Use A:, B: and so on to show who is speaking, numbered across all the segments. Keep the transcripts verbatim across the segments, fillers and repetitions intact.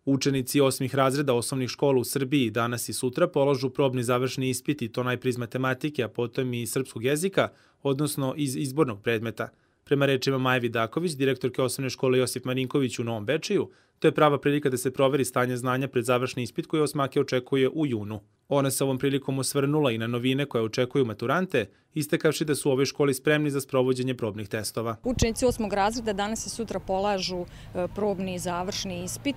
A: Učenici osmih razreda osnovnih škola u Srbiji danas i sutra polažu probni završni ispit i to najpre iz matematike, a potom i iz srpskog jezika, odnosno iz izbornog predmeta. Prema rečima Maje Vidaković, direktorke osnovne škole Josip Marinković u Novom Bečeju, to je prava prilika da se proveri stanje znanja pred završni ispit koji osmake očekuje u junu. Ona se ovom prilikom osvrnula i na novine koje očekuju maturante, istakavši da su u ovoj školi spremni za sprovođenje probnih testova.
B: Učenici osmog razreda danas i sutra polažu probni završni ispit.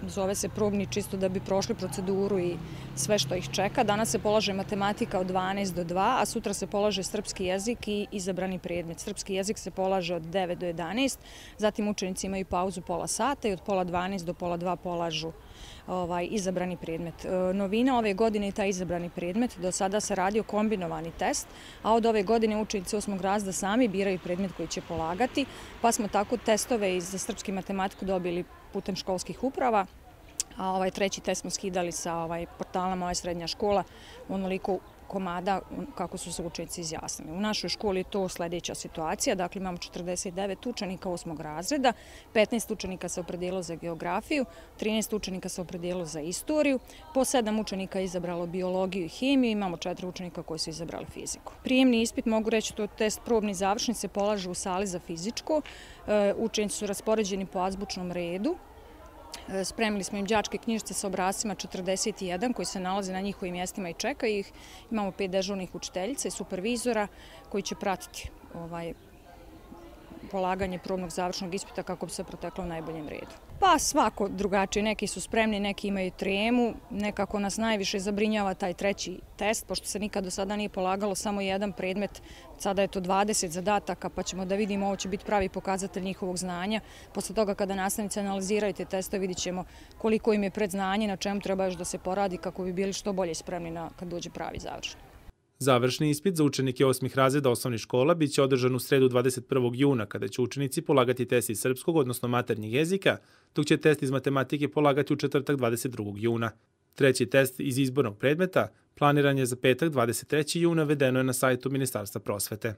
B: Zove se probni čisto da bi prošli proceduru i sve što ih čeka. Danas se polaže matematika od dvanaest do dva, a sutra se polaže srpski jezik i izabrani predmet. Srpski jezik se polaže od devet do jedanaest, zatim učenici imaju pauzu pola sata i od pola dvanaest do pola dva polažu ovaj, izabrani predmet. Novina ove godine je taj izabrani predmet. Do sada se radio kombinovani test, a od ove godine učenici osmog razreda sami biraju predmet koji će polagati, pa smo tako testove iz srpske matematiku dobili putem školskih uprava, a ovaj treći test smo skidali sa ovaj, portala Moja srednja škola, onoliko komada kako su se učenici izjasnili. U našoj školi je to sljedeća situacija, dakle imamo četrdeset devet učenika osmog razreda, petnaest učenika se opredijelilo za geografiju, trinaest učenika se opredijelilo za istoriju, po sedam učenika je izabralo biologiju i hemiju, imamo četiri učenika koji su izabrali fiziku. Prijemni ispit, mogu reći, to je test probni završni, se polaže u sali za fizičko, učenici su raspoređeni po azbučnom redu. Spremili smo im đačke knjižice sa obrascima četrdeset jedan koji se nalaze na njihovim mjestima i čekaju ih. Imamo pet dežurnih učiteljica i supervizora koji će pratiti ovaj, polaganje probnog završnog ispita kako bi se proteklo u najboljem redu. Pa svako drugačije, neki su spremni, neki imaju tremu, nekako nas najviše zabrinjava taj treći test, pošto se nikad do sada nije polagalo samo jedan predmet, sada je to dvadeset zadataka, pa ćemo da vidimo, ovo će biti pravi pokazatelj njihovog znanja. Posle toga kada nastavnici analiziraju te testove, vidit ćemo koliko im je predznanje, na čemu treba još da se poradi kako bi bili što bolje spremni na, kad dođe pravi završni.
A: Završni ispit za učenike osmih razreda osnovnih škola biće održan u sredu dvadeset prvog juna, kada će učenici polagati test iz srpskog, odnosno maternjeg jezika, dok će test iz matematike polagati u četvrtak dvadeset drugog juna. Treći test iz izbornog predmeta planiran je za petak dvadeset trećeg juna, vedeno je na sajtu Ministarstva prosvete.